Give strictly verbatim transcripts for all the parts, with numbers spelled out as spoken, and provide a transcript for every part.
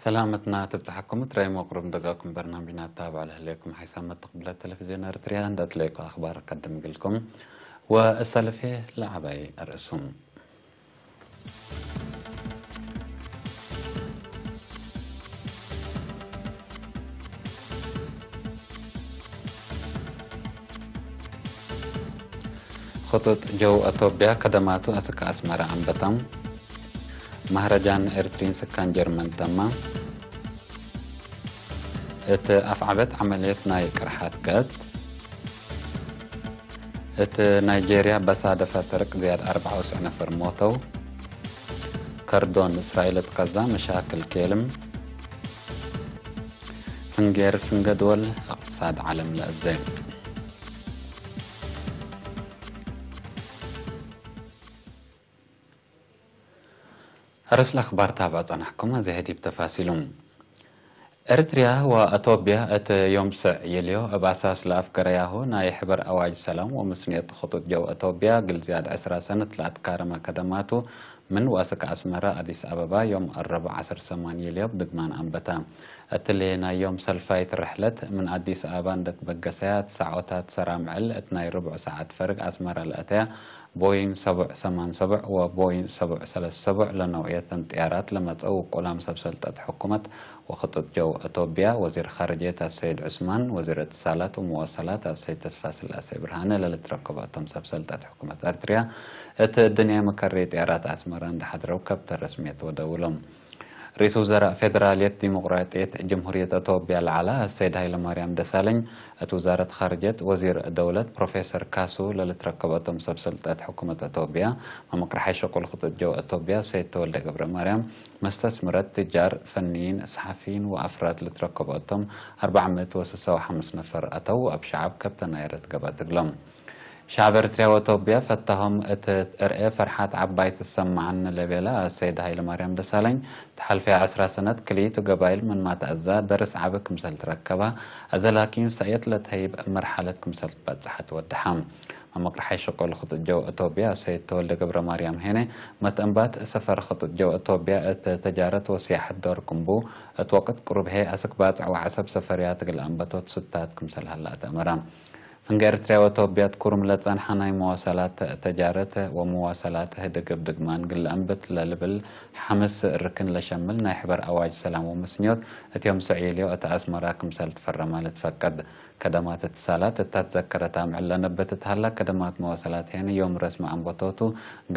ሰላመትና ትብጽሐኩም፣ እትራይ መቅሩብ ደጋኩም በርናምጅና ታብዕ ለህሌኩም ሓይሳም መተቅብለት ቴሌቪዝዮን ኤርትርያ እንደ እትለይኩ አኽባር ቀድም እግልኩም ወእሰልፌ ለዐባይ አርእሱም። ክጡጥ ጀው አቶብያ ከደማቱ አስክ አስመረ አንበተም። መህረጃን ኤርትሪን ስካን ጀርመን ተማ። እት አፍዓበት ዐመልየት ናይ ቅርሓት ገአት። እት ናይጄርያ በሳደፈ ፈርቅ ዝያድ አርበዕ ወሰብዕ ነፈር ሞተው። ከርዶን እስራኤል እት ቀዛ መሻክል ኬልም። ፍንጌር ፍንገ ድወል እቅትሳድ ዐለም ለአዜ። አርእስ ለአኽባር ታብዕ ጸናሕኩም፣ አዜ ህዲብ ተፋሲሉም። ኤርትርያ ወአቶብያ እት ዮም ሰዕ ይልዮ እብ አሳስ ለአፍገረያሁ ናይ ሕበር አዋጅ ሰላም ወምስንየት ክጡጥ ጀው አቶብያ እግል ዝያድ ዕስራ ሰነት ለአትካረመ ከደማቱ ምን ወአስክ አስመረ አዲስ አበባ ዮም አረብዕ ዐስር ሰማን ይልዮ እብ ድግማን አንበተ። እትሊ ናይ ዮም ሰልፋይት ርሕለት ምን አዲስ አበባ እንደ ትበገሰያ እት ሳዖታት ሰራምዕል እት ናይ ርቡዕ ሳዐት ፈርግ አስመረ ለአተያ ቦይንግ ሰቡዕ ሰማን ሰቡዕ ወቦይንግ ሰቡዕ ሰለስ ሰቡዕ ለነውዕየተን ጥያራት ለመጸው ውቁላም ሰብ ሰልጠት ሕኩመት ወክጡጥ ጀው አቶብያ፣ ወዚር ካርጅየት አሰይድ ዑስማን፣ ወዚር እትሳላት ወመዋሰላት አሰይድ ተስፋስላሴ ብርሃነ ለልትረከቦ እቶም ሰብ ሰልጠት ሕኩመት ኤርትርያ፣ እት እድንያይ መከሬ ጥያራት አስመረ እንደ ሐድረው ከብተ ረስምየት ወደውሎም። ርኢስ ውዘራእ ፌደራልየት ዲሞቅራጥየት ጀምሁርየት አቶብያ ለዐለ አሰይድ ሀይለማርያም ደሳለኝ፣ እት ውዛረት ካርጅየት ወዚር ደውለት ፕሮፌሰር ካሱ ለልትረከበቶም ሰብ ሰልጠት ሕኩመት አቶብያ፣ መምቅርሓይ ሸቁል ክጡጥ ጀው አቶብያ ሰይድ ተወልደ ገብረማርያም፣ መስተስምረት፣ ትጃር፣ ፈኒይን፣ ሰሓፊይን ወአፍራድ ልትረከበቶም አርበዕ ምእት ወስሳ ወሐምስ ነፈር አተው፣ ወአብ ሸዐብ ከብተ ናይረት ገብአት እግሎም። ሸዐብ ኤርትርያ ወአቶብያ ፈታሆም እት እርኤ ፈርሓት ዐባይ ትሰመዐኒ ለቤለ አሰይድ ሀይለማርያም ደሳለኝ፣ ተሐልፈየ ዐስራ ሰነት ክልኢቱ ገባይል ምንማ ተአዛ ደርስ ዐቢ ክምሰል ትረከበ፣ አዘ ላኪን ሰእየት ለትሀይብ መርሐለት ክምሰል ትበጽሐት ወደሐ። መምቅርሓይ ሸቆል ክጡጥ ጀው አቶብያ አሰይድ ተወልደ ገብረማርያም ሄነ፣ መትአንባት ሰፈር ክጡጥ ጀው አቶብያ እት ተጃረት ወስያሐት ዶር ክምቡ፣ እት ወቅት ቅሩብ ህዬ አስክ ባጽዕ ወዐሰብ ሰፈርያት እግል አንበቶት ሱታት ክምሰል ሀላ አትአመረ። ፍንጌ ኤርትርያ ወአቶብያ እት ኩሩም ለጸንሐ ናይ መዋሰላት ተጃረት ወመዋሰላት ህድግ እብ ድግማን እግል ለአንብት ለልብል ሐምስ ርክን ለሸምል ናይ ሕበር አዋጅ ሰላም ወምስንዮት እት ዮም ሰዕ ይልዮ እት አስመራ ክምሰል ትፈረመ ልትፈቀድ። ከደማት እትሳላት እተ ትዘከረት አምዕል ለነብት እት ሀላ ከደማት መዋሰላት ሄነ ዮም ረስሚ አንበቶቱ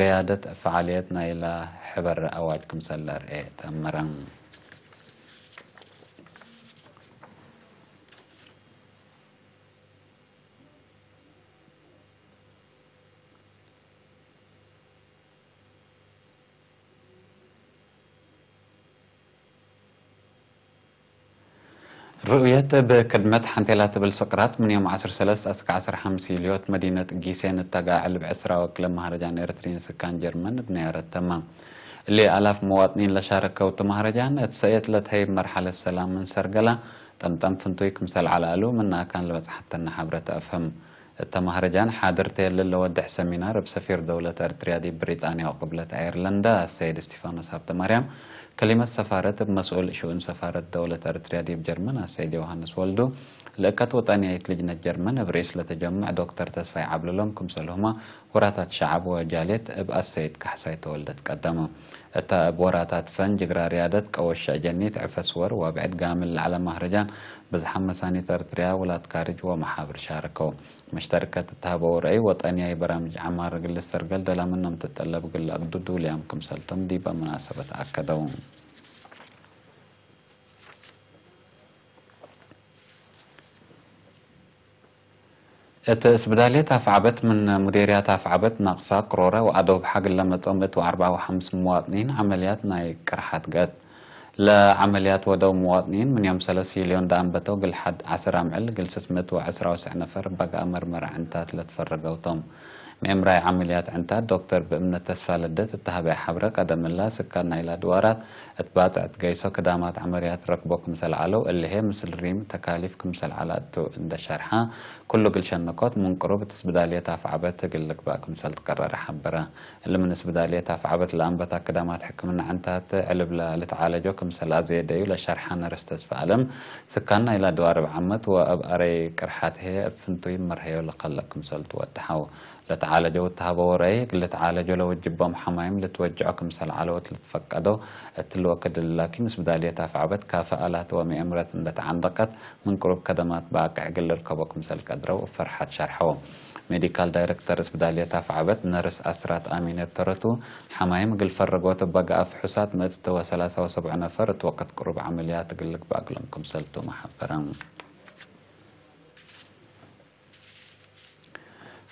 ገያደት ፈዓልየት ናይላ ሕበር አዋጅ ክምሰል ለአርኤ ተአመረ። ርኡየት እብ ክድመት ሐንቴላ ትብል ስቅራት፣ ምን ዮም ዐስር ሰለስ አስክ ዐስር ሐምስ ይልዮት መዲነት ጊሴን እተጋዕል እብ ዕስራ ወክለ መሀረጃን ኤርትሪን ስካን ጀርመን እብ ነያረት ተመ። እሊ አላፍ መዋጥኒን ለሻረከው እቱ መሀረጃን፣ እት ሰእየት ለትሀይብ መርሐለት ሰላም ምን ሰርገላ፣ ጠምጠም ፍንቱይ ክምሰል ዐለ እሉ ምን አካን ለበጽሐተነ ሐብረ ተአፍህም። እተ መሀረጃን ሓድር ተ እሊ ለወድሕ ሰሚናር እብ ሰፊር ደውለት ኤርትርያ ዲብ ብሪጣንያ ወቅብለት አየርለንዳ አሰይድ እስቲፋኖስ ሀብተማርያም፣ ከሊመት ሰፋረት እብ መስኡል ሽኡን ሰፋረት ደውለት ኤርትርያ ዲብ ጀርመን አሰይድ ዮሃንስ ወልዱ፣ ልእከት ወጠንያይት ልጅነት ጀርመን እብ ርኢስ ለተጀምዕ ዶክተር ተስፋይ ዐብለሎም ክምሰልሁመ ወራታት ሸዐብ ወጃልየት እብ አሰይድ ካሕሳይ ተወልደ ትቀደመ። እተ እብ ወራታት ፈን፣ ጅግራ ርያደት፣ ቀወ ሸእጀኒት፣ ዕፈ ስወር ወብዕድ ጋምል ለዐለ መሀረጃን ብዝሓም መሳኒት ኤርትርያ፣ ውላድ ካርጅ ወመሓብር ሻረከው። መሽተርከት እት ሀበው ረአይ ወጠንያይ በራምጅ ዐማር እግል ልሰርገል ደላ ምኖም ትጠለብ እግል ለአግዱ ዱልያም ክምሰልቶም ዲበ መናሰበት አከደው። እት እስብዳልየት አፍዐበት ምን ሙዴርያት አፍዐበት ናቅፋ፣ ቅሮረ ወአዶብሐ እግል ለመጽኦ ምእት ወአርበዕ ወሐምስ ሙዋጥኒን ዐመልያት ናይ ቅርሓት ገአት። ለዐመልያት ወደው ሙዋጥኒን ምን ዮም ሰለስ ይልዮን ደአንበተው እግል ሐድ ዐስር አምዕል እግል ስስ ምእት ወዐስራ ወሰዕ ነፈር በገአ መርመረ ዕንታት ለትፈረገው ቶም። ምእምራይ ዐመልያት ዕንታት ዶክተር ብእምነት ተስፋለደት እተ ሀበያ ሐብረ፣ ቀደም እላ ስካን ናይላ ድዋራት እት ባጽዕ እት ገይሶ ክዳማት ዐመልያት ረክቦ ክምሰል ዐለው፣ እሊ ህዬ ምስል ሪም ተካሊፍ ክምሰል ዐላ እቱ እንዴ ሸርሐ፣ ኩሉ እግል ሸነኮት ምን ቅሩብ እት ስብዳልየት አፍዐበት እግል ልግባእ ክምሰል ትቀረረ ሐበረ። እሊ ምን ስብዳልየት አፍዐበት ለአንበታ ክዳማት ሕክምና ዕንታት ዕልብ ለልትዓለጆ ክምሰል አዘየደዩ ለሸርሐ ነርስ ተስፋ አለም፣ ስካን ናይላ ድዋር እብ ዓመት ወእብ አረይ ቅርሓት ህዬ እብ ፍንቱይ መርሀዮ ለከልእ ክምሰል ትወደሐው። ለተዓለጀው እተሀበዎ ረአይ፣ እግል ልትዓለጆ ለወጅቦም ሐማይም ልትወጅዖ ክምሰል ዐለው እት ልትፈቀዶ፣ እትሊ ወክድ ላኪን ስብዳልየት አፍዐበት ካፈ አላት ወምእምረት እንዴ ተዓንደቀት፣ ምን ቅሩብ ከደማት ባቅዕ እግል ልርከቦ ክምሰል ቀድረው እብ ፈርሐት ሸርሐው። ሜዲካል ዳይረክተር ስብዳልየት አፍዐበት ነርስ አስራት አሚን እብ ተረቱ፣ ሐማይም እግል ፈረጎት እበ ገአ ፍሑሳት ምእት ወሰላሳ ወሰብዑ ነፈር እት ወቅት ቅሩብ ዐመልያት እግል ልግባእ እግሎም ክምሰል ቱመ ሐበረ።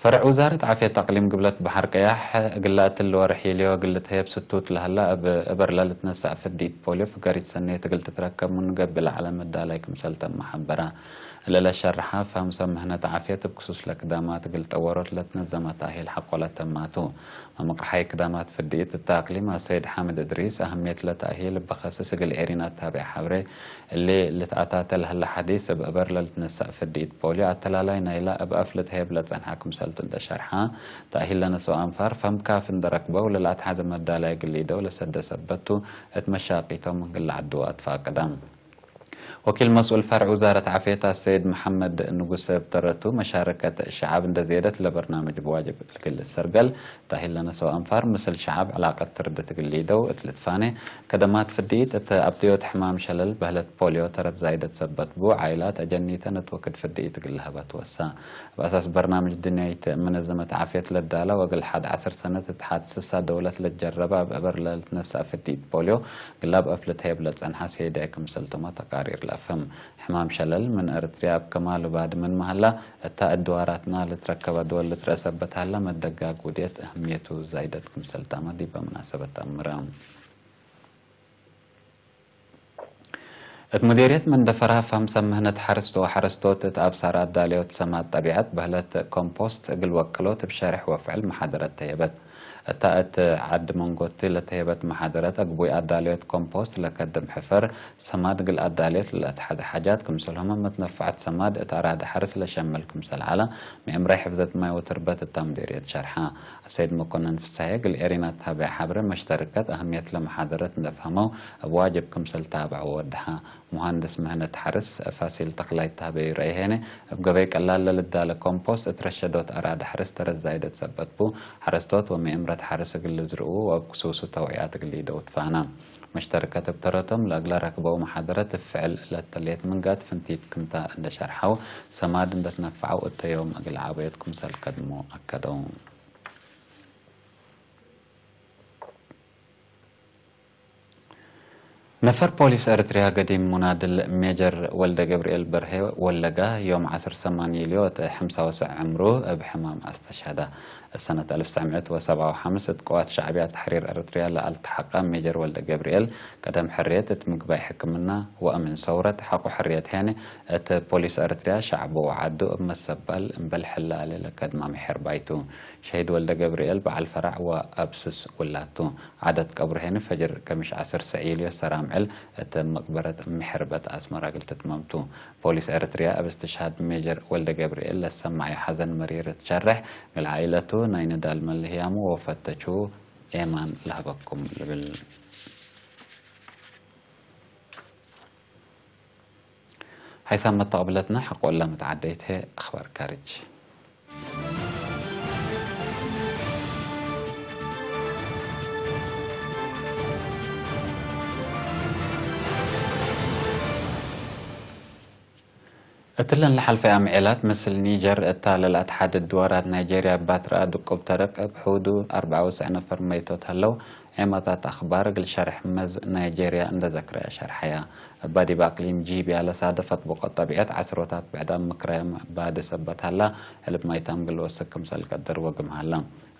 ፈርዕ ውዛረት ዓፍየት አቅሊም ግብለት በሐር ቀያሕ፣ እግላ እትሊ ወርሕ ሊዮ እግል ልትሀየብ ስቱት ለሀላ፣ እብ እበር ለልትነሳእ ፍዲት ፖሊዮ ፍገሪት ሰኔት እግል ትትረከብ ምኑ ገብእ ለዐለ መዳላይ ክምሰል ተመ ሐበረ። እለ ለሸርሐ፣ ፈሀም ሰብ ምህነት ዓፍየት እብ ክሱስ ለክዳማት እግል ጠወሮት ለትነዘመ ተእሂል ሐቆለ ተማቱ። መምቅርሓይ ክዳማት ፍዲት እተ አቅሊም አሰይድ ሓምድ እድሪስ፣ አህምየት ለተእሂል እብ ከስስ እግል ኤሪን አታብዕ ሐብሬ፣ እሊ ልትአታተ ለህለ ሐዲስ፣ እብ እበር ለልትነሳእ ፍዲት ፖሊዮ፣ አተላላይ ናይላ እብ አፍ ልትሀየብ ለጸንሐ ክምሰልቱ እንዴ ሸርሐ፣ ተእሂል ለነስኦ አንፋር ፈም ካፊ እንዴ ረክበው፣ ለለአትሐዘ መዳላይ እግል ሊደው ለሰደ ሰበት ቱ፣ እት መሻቂቶም እግል ለዐድወ አትፋቅደ። ወኪል መስኡል ፈርዕ ውዛረት ዓፍየት አሰይድ መሐመድ ንጉሰ እብ ተረቱ፣ መሻረከት ሸዐብ እንዴ ዜደት ለበርናምጅ ብዋጅብ እግል ልሰርገል፣ ተእሂል ለነስኦ አንፋር ምስል ሸዐብ ዕላቀት ትርድት እግል ሊደው እት ልትፋኔ፣ ከደማት ፍድኢት እት አብድዮት ሕማም ሸለል በህለት ፖሊዮ ተረት ዛይደት ሰበት ቡ፣ ዓይላት አጀኒተ ነትወክድ ፍድኢት እግል ለሀባ ትወሳ። እብ አሳስ በርናምጅ ድንያይት መነዘመት ዓፍየት ለዳላ ወእግል ሐድ ዐስር ሰነት እት ሐድ ስሳ ደውለት ለትጀረበ እብ እበር ለልትነሳእ ፍድኢት ፖሊዮ፣ ግላብ አፍ ልትሀየብ ለጸንሐ ሴዳይ ክምሰልቱመ ተቃሪር ለአፍህም። ሕማም ሸለል ምን ኤረትርያ እብ ከማሉ ባድምን መሀላ፣ እታ እድዋራትና ልትረከበ ድወል ልትረአ ሰበት ሀላ፣ መደጋግ ውድየት እህምየቱ ዛይደት ክምሰልታመ ዲበ ምናሰበት አምረ። እት ሙዴርየት መንደፈራ ፈም ሰብ ምህነት ሐርስ ወሐረስቶት እት አብሳር አዳለዮት ሰማድ ጠቢዐት በህለት ኮምፖስት እግል ወቅሎት እብ ሸርሕ ወፍዕል መሓደረት ተየበት። እታ እት ዐድ መንጎቲ ለተየበት መሓደረት፣ አግቡይ አዳለዮት ኮምፖስት ለከድም ሕፈር ሰማድ እግል አዳለዮት ለለአትሐዘ ሓጃት፣ ክምሰልሁመ መትነፈዐት ሰማድ እት አራደ ሐርስ ለሸምል ክምሰል ዐለ፣ ምእምራይ ሕፍዘት ማይ ወትርበት እታ ሙዴርየት ሸርሐ። አሰይድ መኮነን ፍሳሄ እግል ኤሪና ታብዕ ሐብሬ፣ መሽተርከት አህምየት ለመሓደረት እንዴ ፈሀመው፣ እብ ዋጅብ ክምሰል ታብዐው ወወደሐ። ሙሃንድስ ምህነት ሐርስ ፋሲል ተክላይ ታህበዩ ረአይ ሄነ፣ እብ ገበይ ቀላል ለልዳለ ኮምፖስት እት ረሸዶት አራደ ሐርስ ተረት ዛይደት ሰበት ቡ፣ ሐረስቶት ወምእምረት ሐርስ እግል ልዝርኡ ወእብ ክሱሱ ተውዕያት እግል ሊደው ትፋና። መሽተርከት እብ ተረቶም ለእግለ ረክበው መሓደረት እብ ፍዕል ለተሌት ምንጋድ ፍንቲት ክምታ እንደ ሸርሐው፣ ሰማድ እንደ ትነፈዐው እተ ዮም እግል ዓበዮት ክምሰል ከድሞ አከደው። ነፈር ፖሊስ ኤረትርያ ገዲም ሙናድል ሜጀር ወልደገብርኤል በርሄ ወለጋ፣ ዮም ዐስር ሰማን ዩልዮ እት ሐምሳ ወሰዕ ዕምሩ እብ ሕማም አስተሽሀደ። እት ሰነት አልፍ ወትሰዕ ምእት ወሰብዓ ወሐምስ እት ቅዋት ሸዕብያ ተሕሪር ኤረትርያ ለአልተሐቀ ሜጀር ወልደገብርኤል፣ ቀደም ሕርየት እት ምግባይ ሕክምና ወአምን ሰውረት ሐቆ ሕርየት ሄነ፣ እት ፖሊስ ኤረትርያ ሸዕቡ ወዐዱ እብ መሰባል እምበል ሕላሌ ለከድማ ምሕር ባይቱ። ሸሂድ ወልደገብርኤል በዐል ፈራዕ ወአብ ሱስ ውላቱ። ዓደት ቀብሩ ሄኒ ፈጅር ከምሽ ዐስር ሰዕ ዩልዮ ሰራምዕል እት መቅበረት ምሕርበት አስመራ እግል ትትመምቱ። ፖሊስ ኤረትርያ እብ እስትሽሃድ ሜጀር ወልደገብርኤል ለሰመዐዩ ሐዘን መሪር እት ሸርሕ፣ እግል ዓኢለቱ ናይ ንዳል መልህያሙ ወፈተቹ ኤማን ለሀበኩም ልብል። ሐይሳም መተቅብለትነ ሐቆለ መትዓደይት ህዬ አኽባር ካርጅ። እትለን ለሐልፈ አምዔላት፣ ምስል ኒጀር እታ ለለአትሓድድ ድዋራት ናይጄርያ እብ ባትረአ ድቁብ ተረቅ እብ ሑዱ አርበዓ ወትስዕ ነፈር መይቶት ሀለው። ዔማታት አኽባር እግል ሸርሕ መዝ ናይጄርያ እንደ ዘክረየ ሸርሐያ። እባ ዲብ አቅሊም ጂቢያ ለሳደፈት ብቆት ጠቢዐት ዐስሮታት ብዕዳም ምክራያም ባዲ ሰበት ሀላ፣ ዕልብ ማይታም እግል ወስክ ክምሰል ቀድር ወግም ሀላ።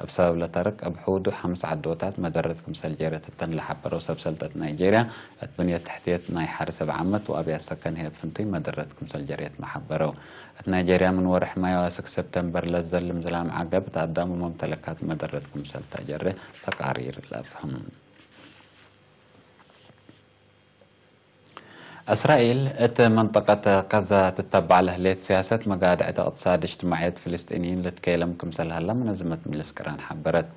እብ ሰበብ ለተርክ እብ ሑዱ ሐምስ ዐዶታት መደረት ክምሰል ጀሬት እተን ለሐበረው ሰብ ሰልጠት ናይጄርያ፣ እት ብንየት ተሕትየት ናይ ሐርስ እብ ዓመት ወአብያት ሰከን ህይ እብ ፍንቱይ መደረት ክምሰል ጀሬት መሐበረው። እት ናይጄርያ ምን ወርሕ ማይ አዋስክ ሰብተምበር ለዘልም ዝላም ዐገብ እት አዳም ወመምተለካት መደረት ክምሰል ተጀሬ ተቃሪር ለአፍህም። እስራኤል እት መንጠቀት ቀዛ ትተባዕ ለህሌት ሲያሰት መጋድዕት እቅትሳድ እጅትማዕየት ፍልስጢንይን ልትኬለም ክምሰል ሀላ መነዝመት ምልስ ቅራን ሐበረት።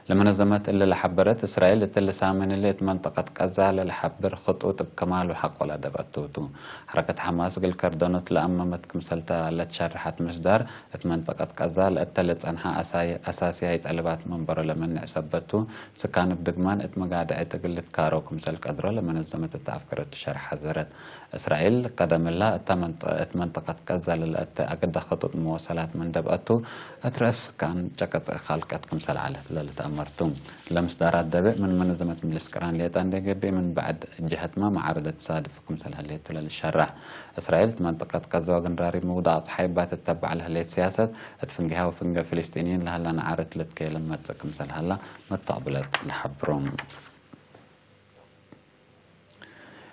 ለመነዘመት እሊ ለሐበረት፣ እስራኤል እትሊ ሳምን እሊ እት መንጠቀት ቀዛ ለለሐብር ክጡጥ እብ ከማሉ ሐቆ ለደብአቱ ቱ። ሐረከት ሐማስ እግል ከርደኖት ለአመመት ክምሰልተ ለትሸርሐት ምስዳር፣ እት መንጠቀት ቀዛ ለእተ ለጸንሐ አሳይ-፣ አሳስያይ ጠልባት መንበሮ ለመንዕ ሰበት ቱ፣ ስካን እብ ድግማን እት መጋድዕት እግል ልትካረው ክምሰል ቀድሮ ለመነዘመት እተ አፍገረቱ ሸርሕ ሐዘረት። እስራኤል ቀደም እላ እተ መንጠ-፣ እት መንጠቀት ቀዛ ለለአተ አግደ ክጡጥ መወሰላት ምን ደብአቱ፣ እት ረአስ ስካን ጨቀጥ ካልቀት ክምሰል ዐለት ለልትአመር ቱ። ለምስዳራት ደብእ ምን መነዘመት ምልስ ቅራን ሌጠ እንዴ ገብእ፣ ምን በዕድ ጀሀትመ መዓረደት ሳድፍ ክምሰል ህሌት ለልሸራሕ። እስራኤል እት መንጠቀት ቀዛ ወግንራሪ ምውዳቅ ጸሓይ እባ ትተባዕ ለህሌት ሲያሰት፣ እት ፍንጌሃ ወፍንጌ ፍልስጢንይን ለሀላ ነዓረት ልትኬለም መጽእ ክምሰል ሀላ መተቅብለት ለሐብሩ።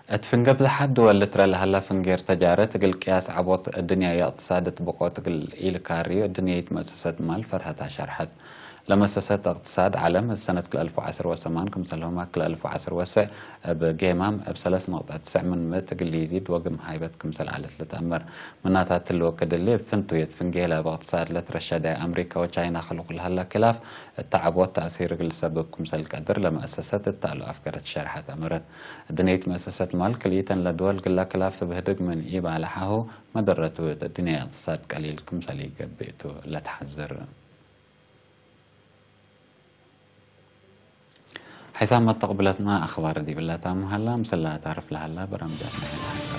እት ፍንጌ ብዝሓት ድወል ልትረ ለሀላ ፍንጌ እርተጃረት፣ እግል ቅያስ ዐቦት እድንያዊ እቅትሳድ እት ብቆት እግል ኢልካርዩ፣ እድንያይት መእሰሰት ማል ፈርሀት አሸርሐት። ለመሰሰት እቅትሳድ ዐለም፣ እት ሰነት ክልኤ አልፍ ወዐስር ወሰማን ክምሰልሁመ ክልኤ አልፍ ወዐስር ወሰዕ እብ ጌማም እብ ሰለስ ነቅጠት ትስዕ ምን ምእት እግል ሊዚድ ወግም ሃይበት ክምሰል ዐለት ልትአመር። ምናታት እሊ ወክድ እሊ፣ እብ ፍንቱየት ፍንጌ ለእብ እቅትሳድ ለትረሸደ አምሪካ ወቻይና ክልቁ ለሀላ ክላፍ፣ እተ ዐቦት ተእሲር እግል ልሰብብ ክምሰል ቀድር ለመአሰሰት እተ አሉ አፍገረት ሸርሐት አመረት። እድንያይት መአሰሰት ማል ክልኢተን ለድወል ግላ ክላፍ ትብህድግ ምን ኢባለሐሁ፣ መደረቱ እት እድንያይ እቅትሳድ ቀሊል ክምሰል ኢገብእ ቱ ለትሐዝር። ሐይሳም መተቅብለትመ አክባር ዲብለ ታምሀላ፣ ምስላ ታርፍ ለሀላ በራምጃትነ።